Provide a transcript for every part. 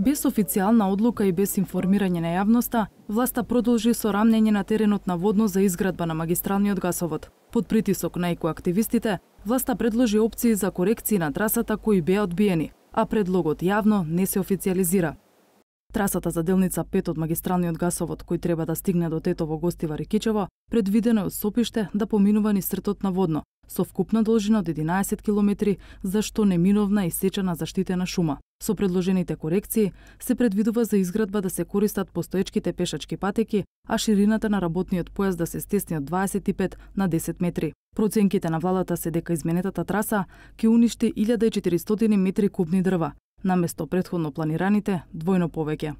Без официјална одлука и без информирање на јавноста, власта продолжи со рамнење на теренот на водно за изградба на магистралниот гасовод. Под притисок на екоактивистите, власта предложи опции за корекции на трасата кои беа одбиени, а предлогот јавно не се официјализира. Трасата за делница 5 од магистралниот гасовод, кој треба да стигне до Тетово, Гостива, Рикичево, предвидено е од Сопиште да поминува низ сртот на водно, со вкупна должина од 11 километри, за што неминовна исечена заштитена шума. Со предложените корекции се предвидува за изградба да се користат постоечките пешачки патеки, а ширината на работниот појас да се стесни од 25 на 10 метри. Проценките на владата се дека изменетата траса ќе уништи 1400 метри кубни дрва, наместо претходно планираните двојно повеќе.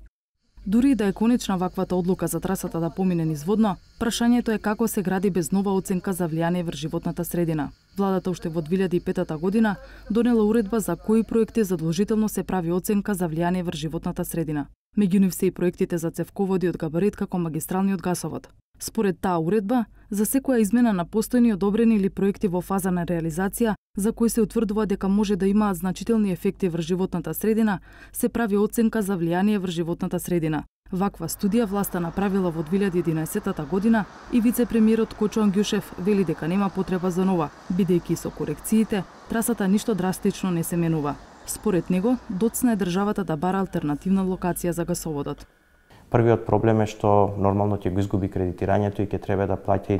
Дури и да е конечна ваквата одлука за трасата да помине низ водно, прашањето е како се гради без нова оценка за влијание врз животната средина. Владата уште во 2005 година донела уредба за кои проекти задолжително се прави оценка за влијание врз животната средина. Меѓу нив се и проектите за цевководи од габарит како магистралниот гасовод. Според таа уредба, за секоја измена на постојни одобрени или проекти во фаза на реализација, за кои се утврдува дека може да имаат значителни ефекти врз животната средина, се прави оценка за влијание врз животната средина. Ваква студија власта направила во 2011 година и вице-премиерот Кочо Ангјушев вели дека нема потреба за нова, бидејќи со корекциите трасата ништо драстично не се менува. Според него, доцна е државата да бара алтернативна локација за гасоводот. Првиот проблем е што нормално ќе го изгуби кредитирањето и ќе треба да плаќа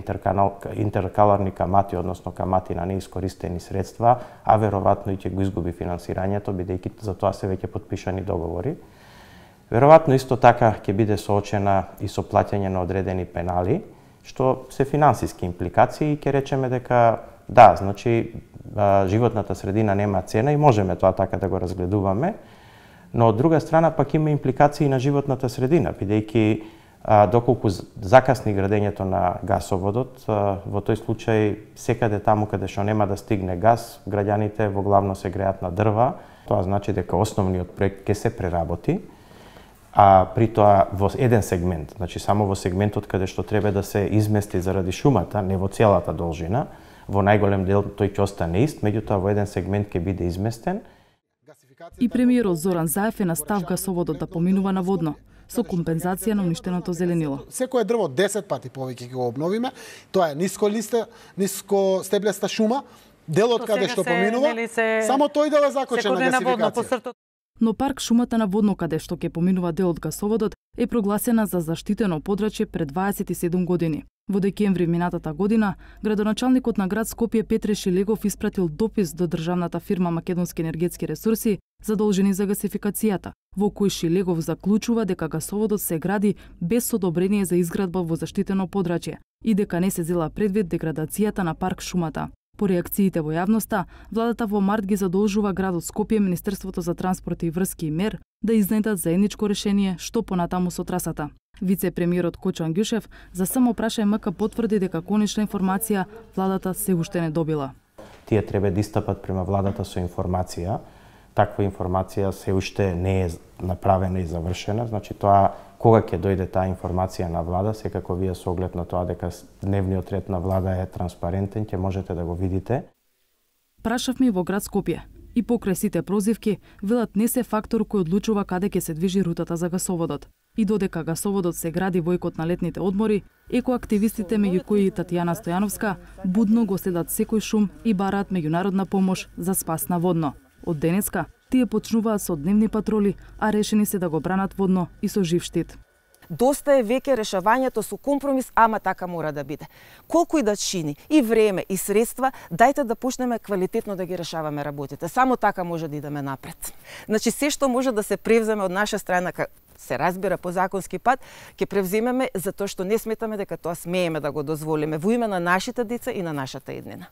интеркаларни камати, односно камати на неискористени средства, а веројатно и ќе го изгуби финансирањето, бидејќи за тоа се веќе подпишани договори. Веројатно исто така ќе биде соочена и со плаќање на одредени пенали, што се финансиски импликации и ќе речеме дека да, значи животната средина нема цена и можеме тоа така да го разгледуваме. Но од друга страна пак има импликации на животната средина, бидејќи доколку закасни градењето на гасоводот, во тој случај секаде таму каде што нема да стигне газ, граѓаните во главно се греат на дрва. Тоа значи дека основниот проект ќе се преработи, а при тоа во еден сегмент, значи само во сегментот каде што треба да се измести заради шумата, не во целата должина, во најголем дел тој ќе остане ист, меѓутоа во еден сегмент ќе биде изместен. И премиерот Зоран Заев е на став гасоводот да поминува на водно, со компензација на уништеното зеленило. Секое дрво 10 пати повеќе ќе го обновиме. Тоа е ниско стеблеста шума, делот каде што поминува, само тој дел е закочен на гасификација. Но парк шумата на водно каде што ќе поминува делот гасоводот е прогласена за заштитено подрачје пред 27 години. Во декември минатата година, градоначалникот на град Скопје Петре Шилегов испратил допис до државната фирма Македонски енергетски ресурси задолжени за гасификацијата, во кој Шилегов заклучува дека гасоводот се гради без одобрение за изградба во заштитено подрачје и дека не се зела предвид деградацијата на парк шумата. По реакциите во јавноста, владата во март ги задолжува градот Скопје, Министерството за транспорт и врски и МЕР да изнедат заедничко решение што понатаму со трасата. Вице-премиерот Кочо Ангјушев за само прашај МК потврди дека конечна информација владата се уште не добила. Тие треба да истапат према владата со информација. Таква информација се уште не е направена и завршена, значи тоа кога ќе дојде таа информација на влада, секако вие со оглед на тоа дека дневниот ред на влада е транспарентен, ќе можете да го видите. Прашавме и во град Скопје. И покрај сите прозивки, велат не се фактор кој одлучува каде ќе се движи рутата за гасоводот. И додека гасоводот се гради во икот на летните одмори, екоактивистите меѓу кои и Татјана Стојановска будно го следат секој шум и бараат меѓународна помош за спас на водно. Од денеска, тие почнуваат со дневни патроли, а решени се да го бранат водно и со жив штит. Доста е веќе решавањето со компромис, ама така мора да биде. Колку и да чини, и време, и средства, дајте да почнеме квалитетно да ги решаваме работите. Само така може да идеме напред. Значи, се што може да се превземе од наша страна, се разбира по законски пат, ќе превземеме затоа што не сметаме дека тоа смееме да го дозволиме во име на нашите деца и на нашата еднина.